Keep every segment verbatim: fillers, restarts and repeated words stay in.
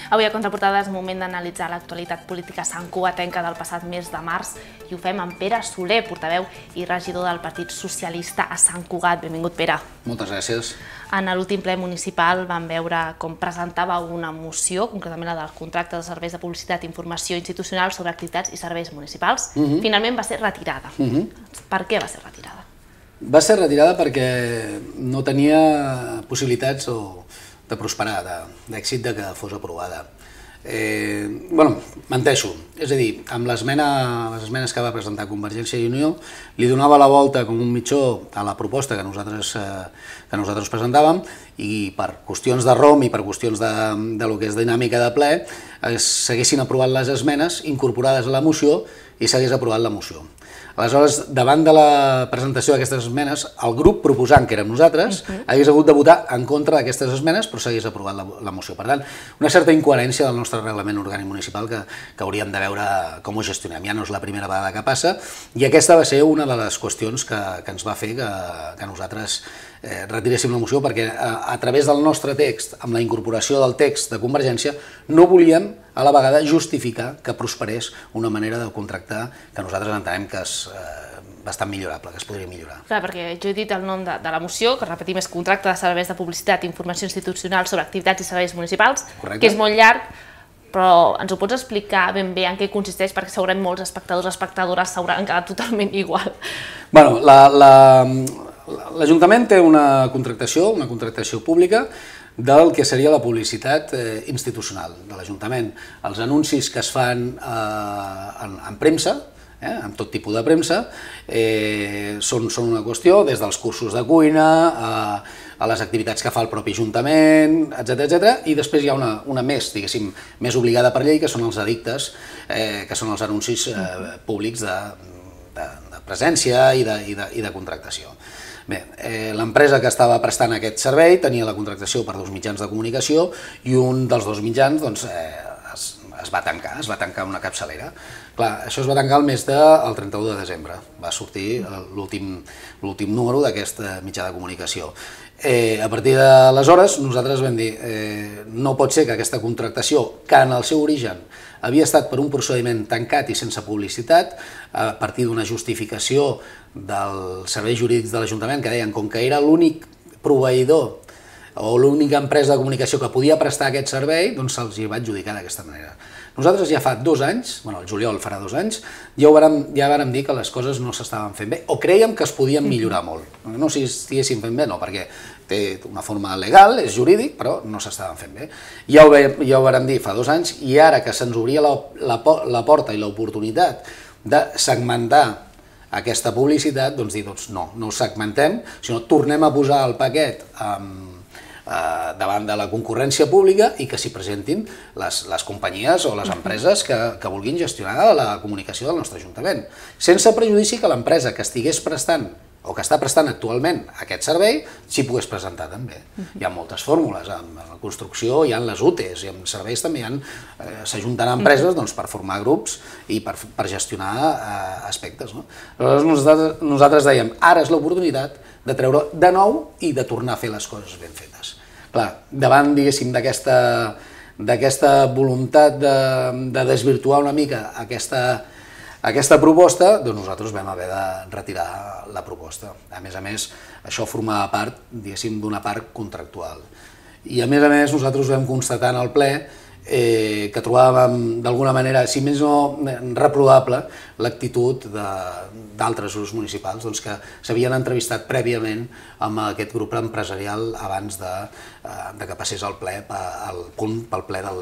Avui a Contraportada és moment d'analitzar l'actualitat política santcugatenca del passat mes de març i ho fem amb Pere Soler, portaveu i regidor del Partit Socialista a Sant Cugat. Benvingut, Pere. Moltes gràcies. En l'últim ple municipal vam veure com presentava una moció, concretament la del contracte de serveis de publicitat i informació institucional sobre activitats i serveis municipals. Finalment va ser retirada. Per què va ser retirada? Va ser retirada perquè no tenia possibilitats de prosperar, d'èxit de que fos aprovada. Bueno, menteixo, és a dir, amb les esmenes que va presentar Convergència i Unió li donava la volta com un mitjó a la proposta que nosaltres presentàvem i per qüestions de rom i per qüestions de lo que és dinàmica de ple s'haguessin aprovat les esmenes incorporades a la moció i s'hagués aprovat la moció. Aleshores, davant de la presentació d'aquestes esmenes, el grup proposant, que érem nosaltres, hagués hagut de votar en contra d'aquestes esmenes, però s'hagués aprovat la moció. Per tant, una certa incoherència del nostre reglament orgànic municipal que hauríem de veure com ho gestionem. Ja no és la primera vegada que passa i aquesta va ser una de les qüestions que ens va fer que nosaltres retiréssim la moció, perquè a través del nostre text, amb la incorporació del text de Convergència, no volíem a la vegada justificar que prosperés una manera de contractar que nosaltres entenem que és bastant millorable, que es podria millorar. Clar, perquè jo he dit el nom de la moció, que repetim és Contracte de serveis de publicitat i informació institucional sobre activitats i serveis municipals, que és molt llarg, però ens ho pots explicar ben bé en què consisteix, perquè segurament molts espectadors o espectadores s'hauran quedat totalment igual. Bueno, l'Ajuntament té una contractació, una contractació pública del que seria la publicitat institucional de l'Ajuntament. Els anuncis que es fan en premsa, amb tot tipus de premsa, són una qüestió, des dels cursos de cuina a les activitats que fa el propi Ajuntament, etcètera, i després hi ha una més, diguéssim, més obligada per llei, que són els edictes, que són els anuncis públics de presència i de contractació. Bé, l'empresa que estava prestant aquest servei tenia la contractació per dos mitjans de comunicació i un dels dos mitjans es va tancar, es va tancar una capçalera. Clar, això es va tancar el mes del trenta-u de desembre, va sortir l'últim número d'aquest mitjà de comunicació. A partir d'aleshores nosaltres vam dir no pot ser que aquesta contractació, que en el seu origen havia estat per un procediment tancat i sense publicitat, a partir d'una justificació dels serveis jurídics de l'Ajuntament que deien com que era l'únic proveïdor o l'única empresa de comunicació que podia prestar aquest servei, doncs se'ls va adjudicar d'aquesta manera. Nosaltres ja fa dos anys, bueno, el juliol farà dos anys, ja vàrem dir que les coses no s'estaven fent bé, o crèiem que es podien millorar molt. No si estiguessin fent bé, no, perquè té una forma legal, és jurídic, però no s'estaven fent bé. Ja ho vàrem dir fa dos anys, i ara que se'ns obria la porta i l'oportunitat de segmentar aquesta publicitat, doncs dir, no, no ho segmentem, sinó tornem a posar el paquet davant de la concurrència pública i que s'hi presentin les companyies o les empreses que vulguin gestionar la comunicació del nostre Ajuntament, sense prejudici que l'empresa que estigués prestant o que està prestant actualment aquest servei s'hi pogués presentar també. Hi ha moltes fórmules, en la construcció hi ha les U T Es i en serveis també s'ajunten empreses per formar grups i per gestionar aspectes. Nosaltres dèiem, ara és l'oportunitat de treure de nou i de tornar a fer les coses ben fetes. Clar, davant, diguéssim, d'aquesta voluntat de desvirtuar una mica aquesta proposta, doncs nosaltres vam haver de retirar la proposta. A més a més, això formava part, diguéssim, d'una part contractual. I a més a més, nosaltres vam constatar en el ple que trobàvem d'alguna manera, si més no reprovable, l'actitud d'altres grups municipals que s'havien entrevistat prèviament amb aquest grup empresarial abans que passés el ple pel ple del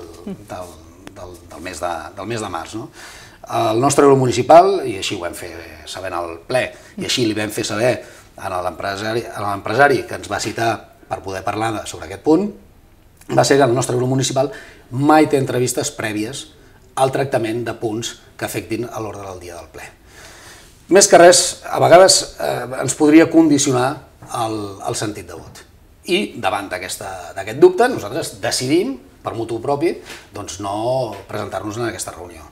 mes de març. El nostre grup municipal, i així ho vam fer saber en el ple, i així li vam fer saber a l'empresari que ens va citar per poder parlar sobre aquest punt, va ser que el nostre grup municipal mai té entrevistes prèvies al tractament de punts que afectin a l'ordre del dia del ple. Més que res, a vegades ens podria condicionar el sentit de vot. I davant d'aquest dubte, nosaltres decidim, per mutu propi, no presentar-nos en aquesta reunió.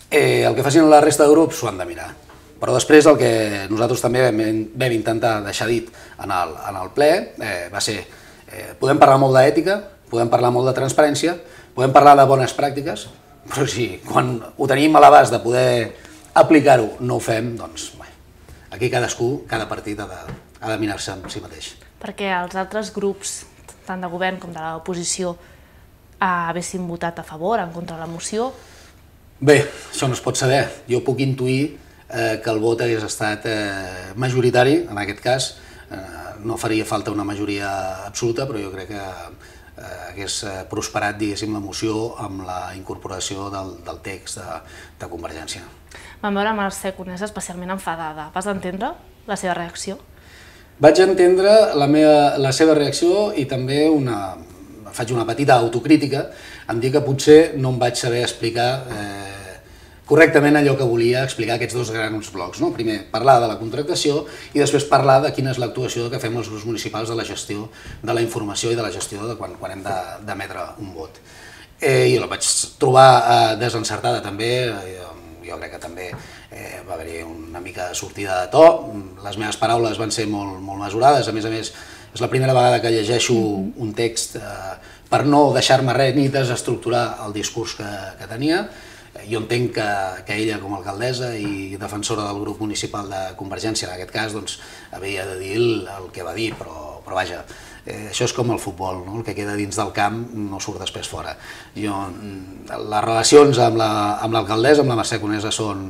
El que facin la resta de grups s'ho han de mirar. Però després el que nosaltres també vam intentar deixar dit en el ple va ser podem parlar molt d'ètica, podem parlar molt de transparència, podem parlar de bones pràctiques, però si quan ho tenim a l'abast de poder aplicar-ho no ho fem, doncs bé, aquí cadascú, cada partit ha de, ha de mirar-se amb si mateix. Perquè els altres grups, tant de govern com de l'oposició, haguessin votat a favor, en contra de la moció? Bé, això no es pot saber. Jo puc intuir eh, que el vot hagués estat eh, majoritari, en aquest cas. Eh, no faria falta una majoria absoluta, però jo crec que eh, hagués prosperat, diguéssim, la moció amb la incorporació del, del text de, de Convergència. Vam veure Mercè Conesa especialment enfadada. Vas entendre la seva reacció? Vaig entendre la, meva, la seva reacció i també una, faig una petita autocrítica en dir que potser no em vaig saber explicar eh, correctament allò que volia explicar aquests dos grans blocs. No? Primer, parlar de la contractació i després parlar de quina és l'actuació que fem els grups municipals de la gestió de la informació i de la gestió de quan, quan hem d'emetre un vot. Eh, I la vaig trobar eh, desencertada també, eh, jo crec que també eh, va haver-hi una mica de sortida de to, les meves paraules van ser molt, molt mesurades, a més a més és la primera vegada que llegeixo un text eh, per no deixar-me res ni desestructurar el discurs que, que tenia. Jo entenc que, que ella, com a alcaldessa i defensora del grup municipal de Convergència, en aquest cas, doncs, havia de dir el, el que va dir, però, però vaja, eh, això és com el futbol, no? El que queda dins del camp no surt després fora. Jo, les relacions amb l'alcaldessa, la, amb la Mercè Conesa, són,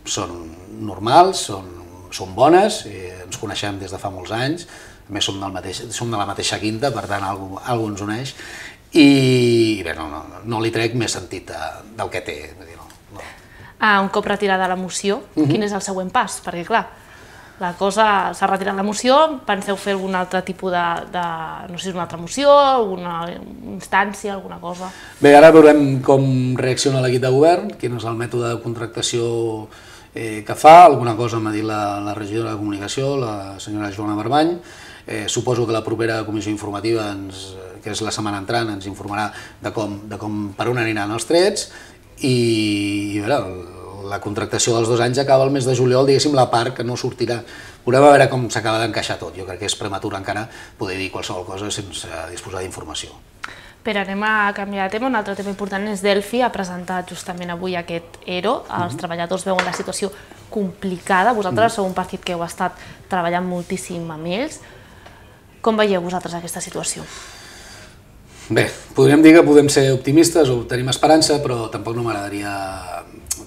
són normals, són, són bones, eh, ens coneixem des de fa molts anys, a més som, del mateix, som de la mateixa quinta, per tant, alguna cosa ens uneix, i bé, no, no, no li trec més sentit de, del que té. Dir, no, no. Ah, un cop retirada la moció, uh-huh. Quin és el següent pas? Perquè clar, la cosa s'ha retirat la moció, penseu fer algun altre tipus de, de no sé si una altra moció, alguna instància, alguna cosa? Bé, ara veurem com reacciona l'equip de govern, quin és el mètode de contractació eh, que fa, alguna cosa m'ha dit la, la regidora de Comunicació, la senyora Joana Barbany. Eh, suposo que la propera comissió informativa, ens, que és la setmana entrant, ens informarà de com, de com per on aniran els trets i, i veure, la contractació dels dos anys acaba el mes de juliol, diguéssim, la part que no sortirà. Veurem a veure com s'acaba d'encaixar tot. Jo crec que és prematur encara poder dir qualsevol cosa sense disposar d'informació. Però anem a canviar de tema. Un altre tema important és Delphi ha presentat justament avui aquest E R O. Els uh-huh. treballadors veuen la situació complicada. Vosaltres uh-huh. sou un partit que heu estat treballant moltíssim amb ells. Com veieu vosaltres aquesta situació? Bé, podríem dir que podem ser optimistes o tenim esperança, però tampoc no m'agradaria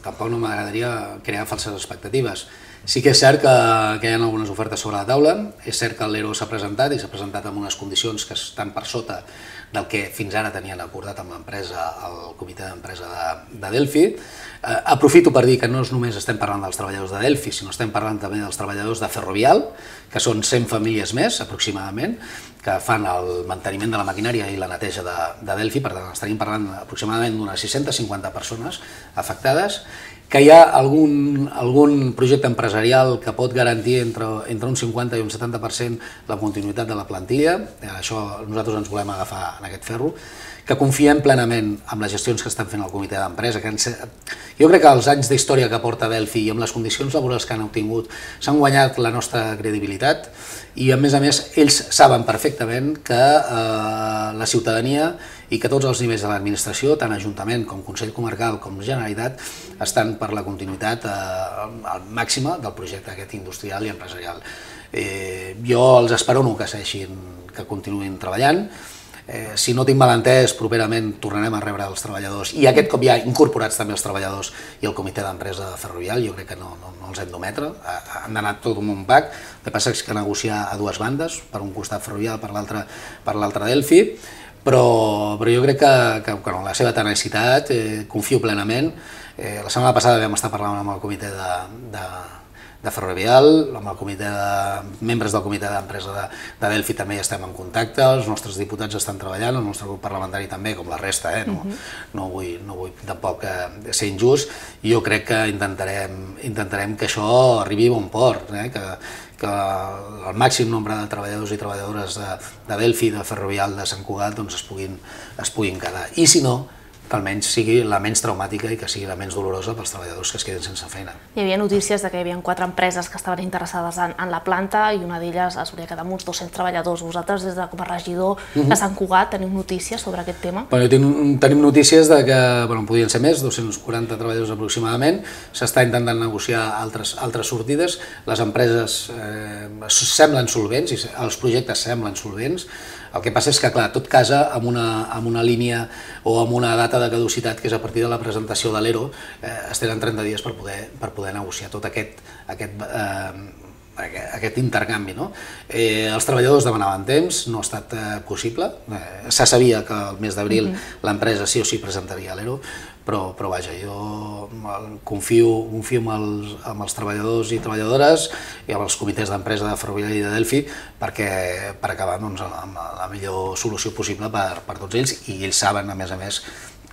tampoc no m'agradaria crear falses expectatives. Sí que és cert que, que hi ha algunes ofertes sobre la taula, és cert que l'E R O s'ha presentat i s'ha presentat amb unes condicions que estan per sota del que fins ara tenien acordat amb l'empresa, el comitè d'empresa de, de Delphi. Eh, aprofito per dir que no només estem parlant dels treballadors de Delphi, sinó estem parlant també dels treballadors de Ferrovial, que són cent famílies més, aproximadament, que fan el manteniment de la maquinària i la neteja de, de Delphi, per tant estaríem parlant aproximadament d'unes sis-centes cinquanta persones afectades, que hi ha algun, algun projecte empresarial que pot garantir entre, entre un cinquanta i un setanta per cent la continuïtat de la plantilla, això nosaltres ens volem agafar en aquest ferro, que confiem plenament en les gestions que estan fent el comitè d'empresa. Jo crec que els anys d'història que porta Delphi i amb les condicions laborals que han obtingut s'han guanyat la nostra credibilitat i a més a més ells saben perfectament que eh, la ciutadania i que tots els nivells de l'administració, tant Ajuntament com Consell Comarcal com Generalitat, estan per la continuïtat eh, màxima del projecte aquest industrial i empresarial. Eh, jo els esperono que segueixin, que continuïn treballant. Eh, si no tinc mal entès, properament tornarem a rebre els treballadors i aquest cop ja incorporats també els treballadors i el comitè d'empresa de Ferrovial, jo crec que no, no, no els hem d'ometre, han d'anar tot en un pack, el que passa és que negociar a dues bandes, per un costat Ferrovial, per l'altre per l'altre Delphi, però, però jo crec que, que, que no, la seva tenacitat, eh, confio plenament. Eh, la setmana passada vam estar parlant amb el comitè de, de de Ferrovial, amb el comitè de membres del comitè d'empresa de, de Delphi també ja estem en contacte, els nostres diputats estan treballant, el nostre grup parlamentari també, com la resta, eh? no, uh-huh. no, vull, no vull tampoc eh, ser injust, i jo crec que intentarem, intentarem que això arribi a bon port, eh? que, que el màxim nombre de treballadors i treballadores de, de Delphi, de Ferrovial, de Sant Cugat, doncs es puguin, es puguin quedar. I si no, que almenys sigui la menys traumàtica i que sigui la menys dolorosa pels treballadors que es queden sense feina. Hi havia notícies de que hi havia quatre empreses que estaven interessades en, en la planta i una d'elles es volia quedar amb uns dos-cents treballadors. Vosaltres, des de com a regidor de Sant Cugat, teniu notícies sobre aquest tema? Bueno, tinc, tenim notícies de que bueno, podien ser més, dos-cents quaranta treballadors aproximadament. S'està intentant negociar altres, altres sortides. Les empreses eh, semblen solvents, i els projectes semblen solvents. El que passa és que, clar, tot casa amb una, amb una línia o amb una data de caducitat que és a partir de la presentació de l'E R O, eh, es tenen trenta dies per poder, per poder negociar tot aquest, aquest, eh, aquest intercanvi. No? Eh, els treballadors demanaven temps, no ha estat eh, possible. Eh, se sabia que el mes d'abril mm-hmm. l'empresa sí o sí presentaria l'E R O, però, però vaja, jo confio, confio en, els, en els treballadors i treballadores i amb els comitès d'empresa de Ferroviari i de Delphi perquè, per acabar doncs, amb la millor solució possible per, per tots ells, i ells saben, a més a més,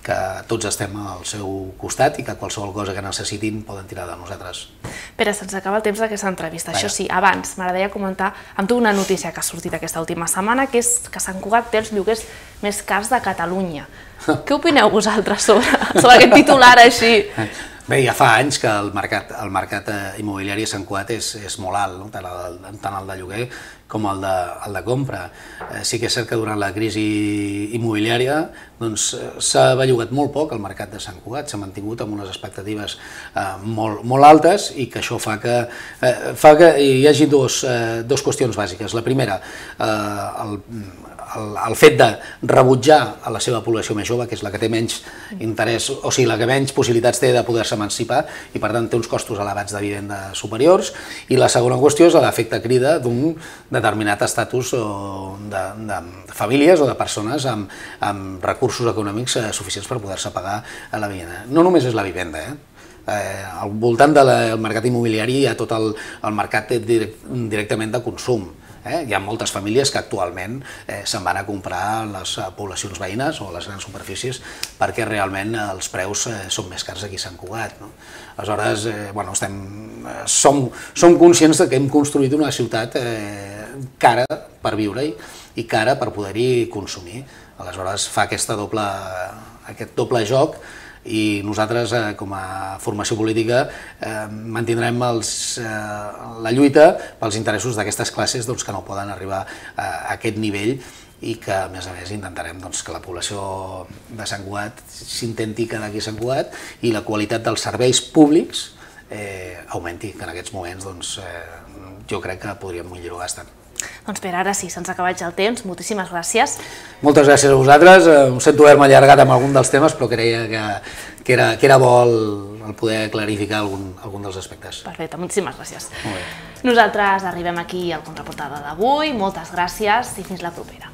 que tots estem al seu costat i que qualsevol cosa que necessitin poden tirar de nosaltres. Pere, se'ns acaba el temps d'aquesta entrevista. Això sí, abans m'agradaria comentar amb tu una notícia que ha sortit aquesta última setmana, que és que Sant Cugat té els lloguers més cars de Catalunya. Què opineu vosaltres sobre, sobre aquest titular així? Bé, ja fa anys que el mercat, el mercat immobiliari a Sant Cugat és, és molt alt, no? tant, el, tant el de lloguer com el de, el de compra. Eh, sí que és cert que durant la crisi immobiliària doncs, s'ha bellugat molt poc el mercat de Sant Cugat, s'ha mantingut amb unes expectatives eh, molt, molt altes, i que això fa que, eh, fa que hi hagi dos, eh, dos qüestions bàsiques. La primera, eh, el, el, el fet de rebutjar a la seva població més jove, que és la que té menys interès, o sigui, la que menys possibilitats té de poder-se emancipar i per tant té uns costos elevats de vivenda superiors, i la segona qüestió és l'efecte crida d'un determinat estatus de, de famílies o de persones amb, amb recursos econòmics suficients per poder-se pagar a la vivenda. No només és la vivenda, eh? Eh, al voltant del mercat immobiliari hi ha tot el, el mercat direct, directament de consum. Eh? Hi ha moltes famílies que actualment eh, se'n van a comprar a les poblacions veïnes o a les grans superfícies perquè realment els preus eh, són més cars aquí a Sant Cugat. No? Aleshores, eh, bueno, estem, eh, som, som conscients que hem construït una ciutat eh, cara per viure-hi i cara per poder-hi consumir. Aleshores fa aquesta doble, aquest doble joc, i nosaltres, eh, com a formació política, eh, mantindrem els, eh, la lluita pels interessos d'aquestes classes doncs, que no poden arribar a aquest nivell, i que, a més a més, intentarem doncs, que la població de Sant Cugat s'intenti quedar aquí a Sant Cugat i la qualitat dels serveis públics eh, augmenti, que en aquests moments doncs, eh, jo crec que podríem millorar bastant. Doncs per ara sí, se'ns ha acabat ja el temps. Moltíssimes gràcies. Moltes gràcies a vosaltres. Em sento haver-me allargat amb algun dels temes, però creia que, que, era, que era bo el, el poder clarificar algun, algun dels aspectes. Perfecte, moltíssimes gràcies. Molt bé. Nosaltres arribem aquí al Contraportada d'avui. Moltes gràcies i fins la propera.